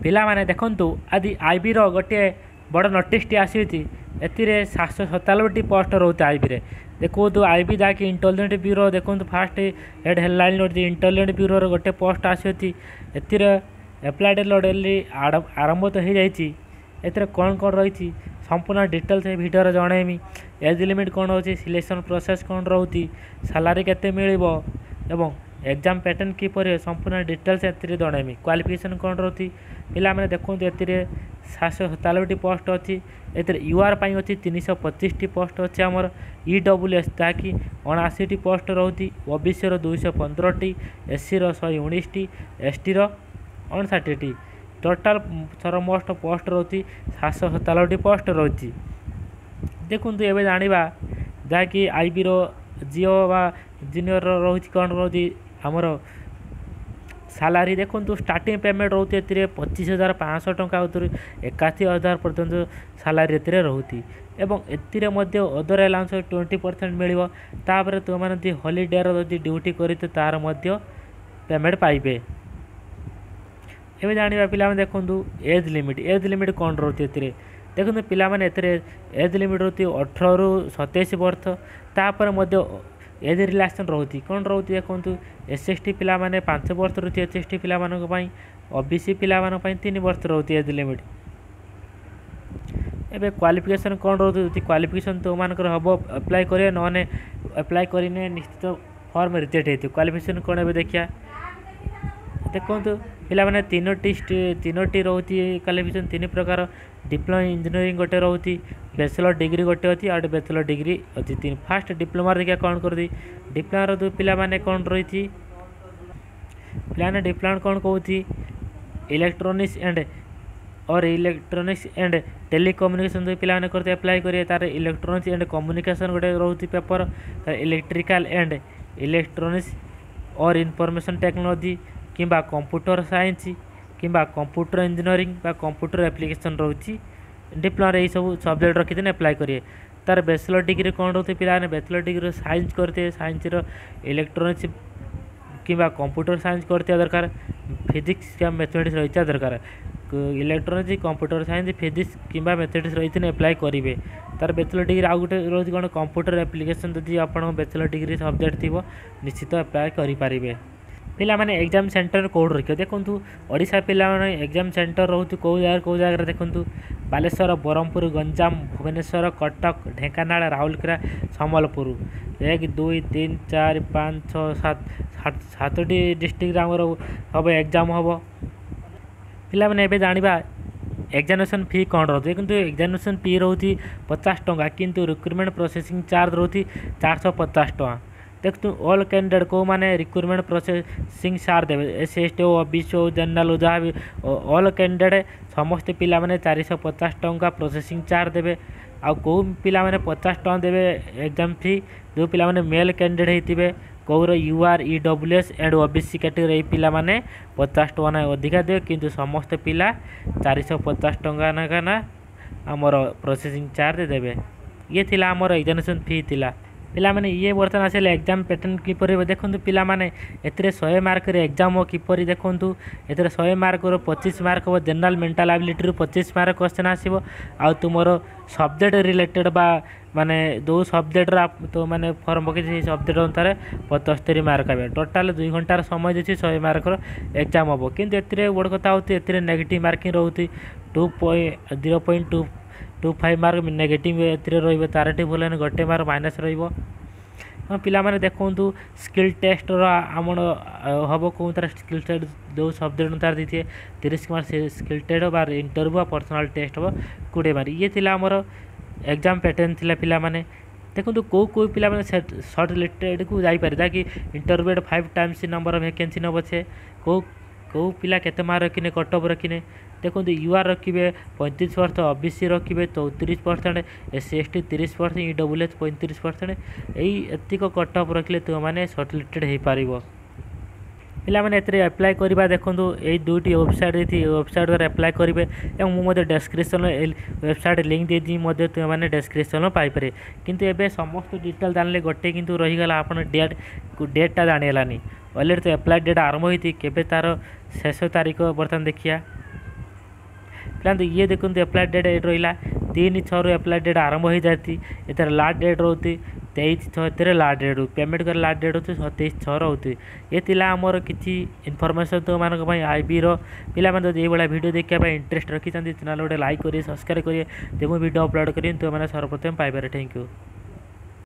ପିଲାମାନେ ଦେଖନ୍ତୁ, ଆଜି ଆଇବିର ଗୋଟିଏ ବଡ଼ ନୋଟିସ୍ଟି ଆସିଛି। ଏଥିରେ 797ଟି ପୋଷ୍ଟ ରହୁଛି ଆଇବିରେ। ଦେଖନ୍ତୁ, ଆଇବି ଯାହାକି ଇଣ୍ଟେଲିଜେନ୍ସ ବ୍ୟୁରୋ। ଦେଖନ୍ତୁ, ଫାଷ୍ଟ ହେଡ଼ଲାଇନ୍ ରହୁଛି ଇଣ୍ଟେଲିଜେନ୍ସ ବ୍ୟୁରୋର ଗୋଟେ ପୋଷ୍ଟ ଆସିଅଛି। ଏଥିରେ ଆପ୍ଲାଏ ଅଲରେଡ଼ି ଆରମ୍ଭ ତ ହେଇଯାଇଛି। ଏଥିରେ କ'ଣ କ'ଣ ରହିଛି, ସମ୍ପୂର୍ଣ୍ଣ ଡିଟେଲ୍ସ ଏ ଭିଡ଼ିଓରେ ଜଣେଇମି। ଏଜ୍ ଲିମିଟ୍ କ'ଣ ରହୁଛି, ସିଲେକ୍ସନ୍ ପ୍ରୋସେସ୍ କ'ଣ ରହୁଛି, ସାଲାରୀ କେତେ ମିଳିବ ଏବଂ ଏକ୍ଜାମ୍ ପ୍ୟାଟର୍ନ କିପରି, ସମ୍ପୂର୍ଣ୍ଣ ଡିଟେଲ୍ସ ଏଥିରେ ଜଣେଇମି। କ୍ୱାଲିଫିକେସନ୍ କ'ଣ ରହୁଛି। ପିଲାମାନେ ଦେଖନ୍ତୁ, ଏଥିରେ 797ଟି ପୋଷ୍ଟ ଅଛି। ଏଥିରେ you ଆର୍ ପାଇଁ ଅଛି 325ଟି ପୋଷ୍ଟ ଅଛି ଆମର। ଇ ଡବ୍ଲ୍ୟୁ ଏସ୍ ଯାହାକି 79ଟି ପୋଷ୍ଟ ରହୁଛି। ଓ ବି ସିର 215ଟି, ଏସ୍ ସିର 119ଟି, ଏସ୍ ଟିର 59ଟି। ଟୋଟାଲ୍ ସର୍ବମୋଷ୍ଟ ପୋଷ୍ଟ ରହୁଛି 797ଟି ପୋଷ୍ଟ ରହୁଛି। ଦେଖନ୍ତୁ, ଏବେ ଜାଣିବା ଯାହାକି ଆଇବିର ଜିଓ ବା ଜୁନିୟରର ରହୁଛି, କ'ଣ ରହୁଛି ଆମର ସାଲାରୀ। ଦେଖନ୍ତୁ, ଷ୍ଟାର୍ଟିଂ ପେମେଣ୍ଟ ରହୁଛି ଏଥିରେ 25,500 ଟଙ୍କା ଉତ୍ତରୁ 81,000 ପର୍ଯ୍ୟନ୍ତ ସାଲାରୀ ଏଥିରେ ରହୁଛି ଏବଂ ଏଥିରେ ମଧ୍ୟ ଅଦର ଆଲାଉନ୍ସ 20% ମିଳିବ। ତାପରେ ତୁମେମାନେ ଯଦି ହଲିଡେର ଯଦି ଡ୍ୟୁଟି କରିଛ, ତାର ମଧ୍ୟ ପେମେଣ୍ଟ ପାଇବେ। ଏବେ ଜାଣିବା ପିଲାମାନେ, ଦେଖନ୍ତୁ, ଏଜ୍ ଲିମିଟ୍। ଏଜ୍ ଲିମିଟ୍ କ'ଣ ରହୁଛି ଏଥିରେ? ଦେଖନ୍ତୁ ପିଲାମାନେ, ଏଥିରେ ଏଜ୍ ଲିମିଟ୍ ରହୁଛି 18ରୁ 27 ବର୍ଷ। ତାପରେ ମଧ୍ୟ ଏଜ୍ ରିଲାକ୍ସେସନ୍ ରହୁଛି। କ'ଣ ରହୁଛି ଦେଖନ୍ତୁ, ଏସ୍ ଏସ୍ ଟି ପିଲାମାନେ 5 ବର୍ଷ ରହୁଛି ଏସ୍ ଏସ୍ ଟି ପିଲାମାନଙ୍କ ପାଇଁ। ଓ ବି ସି ପିଲାମାନଙ୍କ ପାଇଁ 3 ବର୍ଷ ରହୁଛି ଏଜ୍ ଲିମିଟ୍। ଏବେ କ୍ୱାଲିଫିକେସନ୍ କ'ଣ ରହୁଛି? ଯଦି କ୍ୱାଲିଫିକେସନ୍ ତୁମମାନଙ୍କର ହେବ, ଆପ୍ଲାଏ କରିବେ, ନହେଲେ ଆପ୍ଲାଏ କରିନେ ନିଶ୍ଚିତ ଫର୍ମ ରିଜେକ୍ଟ ହେଇଥିବ। କ୍ୱାଲିଫିକେସନ୍ କ'ଣ ଏବେ ଦେଖିବା। ଦେଖନ୍ତୁ ପିଲାମାନେ, ତିନୋଟି ରହୁଛି କ୍ୱାଲିଫିକେସନ୍, ତିନି ପ୍ରକାର। ଡିପ୍ଲୋମା ଇଞ୍ଜିନିୟରିଂ ଗୋଟେ ରହୁଛି, ବ୍ୟାଚଲର ଡିଗ୍ରୀ ଗୋଟେ ଅଛି, ଆଉ ଗୋଟେ ବ୍ୟାଚଲର ଡିଗ୍ରୀ ଅଛି ତିନି। ଫାଷ୍ଟ ଡିପ୍ଲୋମାରେ ଦେଖିବା କ'ଣ କରୁଛି। ଡିପ୍ଲୋମାର ଯେଉଁ ପିଲାମାନେ କ'ଣ ରହିଛି ପିଲାମାନେ, ଡିପ୍ଲୋମା କ'ଣ କହୁଛି? Electronics and or electronics and telecommunication ଯେଉଁ ପିଲାମାନେ କରିତେ ଆପ୍ଲାଏ କରିବେ, ତାର ଇଲେକ୍ଟ୍ରୋନିକ୍ସ ଆଣ୍ଡ କମ୍ୟୁନିକେସନ୍ ଗୋଟେ ରହୁଛି ପେପର। ତାର electrical and electronics or information technology କିମ୍ବା କମ୍ପ୍ୟୁଟର ସାଇନ୍ସ କିମ୍ବା କମ୍ପ୍ୟୁଟର ଇଞ୍ଜିନିୟରିଂ ବା କମ୍ପ୍ୟୁଟର ଆପ୍ଲିକେସନ୍ ରହୁଛି। ଡିପ୍ଲୋମାରେ ଏଇସବୁ ସବଜେକ୍ଟ ରଖିଥିଲେ ଆପ୍ଲାଏ କରିବେ। ତାର ବ୍ୟାଚଲର ଡିଗ୍ରୀ କ'ଣ ରହୁଛି ପିଲାମାନେ? ବ୍ୟାଚଲର ଡିଗ୍ରୀ ସାଇନ୍ସ କରିଥିବେ, ସାଇନ୍ସର ଇଲେକ୍ଟ୍ରୋନିକ୍ସ କିମ୍ବା କମ୍ପ୍ୟୁଟର ସାଇନ୍ସ କରିଥିବା ଦରକାର, ଫିଜିକ୍ସ କିମ୍ବା ମ୍ୟାଥମେଟିକ୍ସ ରହିଥିବା ଦରକାର। ଇଲେକ୍ଟ୍ରୋନିକ୍ସ, କମ୍ପ୍ୟୁଟର ସାଇନ୍ସ, ଫିଜିକ୍ସ କିମ୍ବା ମ୍ୟାଥମେଟିକ୍ସ ରହିଥିଲେ ଆପ୍ଲାଏ କରିବେ। ତାର ବ୍ୟାଚଲର ଡିଗ୍ରୀ ଆଉ ଗୋଟେ ରହୁଛି କ'ଣ? Computer application. ଯଦି ଆପଣଙ୍କ ବ୍ୟାଚଲର ଡିଗ୍ରୀ ସବଜେକ୍ଟ ଥିବ, ନିଶ୍ଚିତ ଆପ୍ଲାଏ କରିପାରିବେ। ପିଲାମାନେ, ଏକ୍ଜାମ୍ ସେଣ୍ଟର କେଉଁଠି ରଖିବ? ଦେଖନ୍ତୁ, ଓଡ଼ିଶା ପିଲାମାନେ ଏକ୍ଜାମ୍ ସେଣ୍ଟର ରହୁଛି କେଉଁ ଜାଗାରେ କେଉଁ ଜାଗାରେ? ଦେଖନ୍ତୁ, ବାଲେଶ୍ୱର, ବ୍ରହ୍ମପୁର, ଗଞ୍ଜାମ, ଭୁବନେଶ୍ୱର, କଟକ, ଢେଙ୍କାନାଳ, ରାଉରକେଲା, ସମ୍ବଲପୁର। 1, 2, 3, 4, 5, 6, 7, ସାତଟି ଡିଷ୍ଟ୍ରିକ୍ଟରେ ଆମର ହେବ, ଏକ୍ଜାମ୍ ହେବ। ପିଲାମାନେ, ଏବେ ଜାଣିବା ଏକ୍ଜାମିନେସନ୍ ଫି କ'ଣ ରହୁଛି। କିନ୍ତୁ ଏକ୍ଜାମିନେସନ୍ ଫି ରହୁଛି 50 ଟଙ୍କା, କିନ୍ତୁ ରିକ୍ରୁଟମେଣ୍ଟ ପ୍ରୋସେସିଂ ଚାର୍ଜ ରହୁଛି 450 ଟଙ୍କା। ଦେଖନ୍ତୁ, ଅଲ୍ କ୍ୟାଣ୍ଡିଡେଟ୍ କେଉଁମାନେ ରିକ୍ରୁଟମେଣ୍ଟ ପ୍ରୋସେସିଂ ଚାର୍ଜ ଦେବେ? ଏସ୍ ସି, ଏସ୍ ଟି ହଉ, ଓ ବି ସି ହଉ, ଜେନେରାଲ୍ ହଉ, ଯାହା ବି ଅଲ୍ କ୍ୟାଣ୍ଡିଡେଟ୍, ସମସ୍ତେ ପିଲାମାନେ 450 ଟଙ୍କା ପ୍ରୋସେସିଂ ଚାର୍ଜ ଦେବେ। ଆଉ କେଉଁ ପିଲାମାନେ 50 ଟଙ୍କା ଦେବେ ଏକ୍ଜାମ୍ ଫି? ଯେଉଁ ପିଲାମାନେ ମେଲ୍ କ୍ୟାଣ୍ଡିଡେଟ୍ ହେଇଥିବେ, କେଉଁର you R, E W S and O B C category, ଏଇ ପିଲାମାନେ 50 ଟଙ୍କା ନା ଅଧିକା ଦେବେ। କିନ୍ତୁ ସମସ୍ତେ ପିଲା 450 ଟଙ୍କା ଲେଖା ନା ଆମର ପ୍ରୋସେସିଂ ଚାର୍ଜ ଦେବେ। ଇଏ ଥିଲା ଆମର ଏକ୍ଜାମିନେସନ୍ ଫି ଥିଲା। ପିଲାମାନେ, ଇଏ ବର୍ତ୍ତମାନ ଆସିଲେ ଏକ୍ଜାମ୍ ପ୍ୟାଟର୍ନ କିପରି ହେବ। ଦେଖନ୍ତୁ ପିଲାମାନେ, ଏଥିରେ 100 ମାର୍କରେ ଏକ୍ଜାମ୍ ହେବ। କିପରି ଦେଖନ୍ତୁ, ଏଥିରେ 100 ମାର୍କର 25 ମାର୍କ ହେବ ଜେନେରାଲ୍ ମେଣ୍ଟାଲ୍ ଆବିଲିଟିରୁ, 25 ମାର୍କ କ୍ୱେଶ୍ଚନ୍ ଆସିବ। ଆଉ ତୁମର ସବଜେକ୍ଟ ରିଲେଟେଡ଼୍ ବା ମାନେ ଯେଉଁ ସବଜେକ୍ଟର ତ ମାନେ ଫର୍ମ ପକେଇଛି, ସେଇ ସବଜେକ୍ଟ ଅନୁସାରେ 75 ମାର୍କ ପାଇବେ। ଟୋଟାଲ୍ 2 ଘଣ୍ଟାର ସମୟ ଦେଇଛି, 100 ମାର୍କର ଏକ୍ଜାମ୍ ହେବ। କିନ୍ତୁ ଏଥିରେ ବଡ଼ କଥା ହେଉଛି, ଏଥିରେ ନେଗେଟିଭ୍ ମାର୍କିଂ ରହୁଛି। 2.0.225 ମାର୍କ ନେଗେଟିଭ୍ ଏଥିରେ ରହିବ। ଚାରୋଟି ଭୁଲ ହେଲେ ଗୋଟେ ମାର୍କ ମାଇନସ୍ ରହିବ। ହଁ ପିଲାମାନେ, ଦେଖନ୍ତୁ, ସ୍କିଲ୍ ଟେଷ୍ଟର ଆମର ହେବ। କେଉଁଥିରେ ସ୍କିଲ୍ ଟେଷ୍ଟ? ଯେଉଁ ସବଜେକ୍ଟ ଅନୁସାରେ ଦେଇଥିବେ 30 ମାର୍କ ସେ ସ୍କିଲ୍ ଟେଷ୍ଟ ବା ଇଣ୍ଟରଭ୍ୟୁ ବା ପର୍ସନାଲ୍ ଟେଷ୍ଟ ହେବ 20 ମାର୍କ। ଇଏ ଥିଲା ଆମର ଏକ୍ଜାମ୍ ପ୍ୟାଟର୍ନ ଥିଲା। ପିଲାମାନେ ଦେଖନ୍ତୁ, କେଉଁ କେଉଁ ପିଲାମାନେ ସର୍ଟ ଲିଷ୍ଟେଡ଼କୁ ଯାଇପାରେ, ଯାହାକି ଇଣ୍ଟରଭ୍ୟୁ 5 ଟାଇମ୍ସ ନମ୍ବର ଭ୍ୟାକେନ୍ସି ନେବ। ସେ କେଉଁ କେଉଁ ପିଲା କେତେ ମାର୍କ ରଖିନେ, କଟ୍ ଅଫ୍ ରଖିନେ? ଦେଖନ୍ତୁ, you ଆର୍ ରଖିବେ 35%, ଓ ବି ସି ରଖିବେ 34%, ଏସ୍ ସି, ଏସ୍ ଟି 30%, ଇ ଡବ୍ଲ୍ୟୁ ଏସ୍ 35%। ଏଇ ଏତିକ କଟ୍ ଅଫ୍ ରଖିଲେ ତୁମେମାନେ ସର୍ଟ ଲିଷ୍ଟେଡ଼ ହେଇପାରିବ। ପିଲାମାନେ, ଏଥିରେ ଆପ୍ଲାଏ କରିବା, ଦେଖନ୍ତୁ, ଏଇ ଦୁଇଟି ୱେବସାଇଟ୍ ଦେଇଛି, ଏଇ ୱେବସାଇଟ୍ ଦ୍ୱାରା ଆପ୍ଲାଏ କରିବେ ଏବଂ ମୁଁ ମଧ୍ୟ ଡେସ୍କ୍ରିପସନ୍ ୱେବସାଇଟ୍ ଲିଙ୍କ୍ ଦେଇଛି, ମଧ୍ୟ ତୁମେମାନେ ଡେସ୍କ୍ରିପସନ୍ ପାଇପାରିବେ। କିନ୍ତୁ ଏବେ ସମସ୍ତ ଡିଟେଲ୍ ଜାଣିଲେ, ଗୋଟେ କିନ୍ତୁ ରହିଗଲା, ଆପଣ ଡେଟ୍ଟା ଜାଣିହେଲାନି। ଅଲରେଡ଼ି ତ ଆପ୍ଲାଏ ଡେଟ୍ ଆରମ୍ଭ ହୋଇଛି, କେବେ ତା'ର ଶେଷ ତାରିଖ ବର୍ତ୍ତମାନ ଦେଖିବା। ପିଲାମାନେ, ଇଏ ଦେଖନ୍ତୁ, ଆପ୍ଲାଏ ଡେଟ୍ ଏଇଠି ରହିଲା 3/6ରୁ ଆପ୍ଲାଏ ଡେଟ୍ ଆରମ୍ଭ ହୋଇଯାଇଛି। ଏଥିରେ ଲାଷ୍ଟ ଡେଟ୍ ରହୁଛି 23/6। ଏଥିରେ ଲାଷ୍ଟ ଡେଟ୍ ରହୁଛି, ପେମେଣ୍ଟ କରି ଲାଷ୍ଟ ଡେଟ୍ ହେଉଛି 27/6 ରହୁଛି। ଏ ଥିଲା ଆମର କିଛି ଇନଫର୍ମେସନ୍ ତୁମମାନଙ୍କ ପାଇଁ ଆଇବିର। ପିଲାମାନେ, ଯଦି ଏଇଭଳିଆ ଭିଡ଼ିଓ ଦେଖିବା ପାଇଁ ଇଣ୍ଟରେଷ୍ଟ ରଖିଛନ୍ତି, ଚ୍ୟାନେଲ୍ ଗୋଟେ ଲାଇକ୍ କରିବେ, ସବସ୍କ୍ରାଇବ୍ କରିବେ। ଯେ ମୁଁ ଭିଡ଼ିଓ ଅପଲୋଡ଼ କରିବି, ତୁମେମାନେ ସର୍ବପ୍ରଥମେ ପାଇପାରିବେ। Thank you.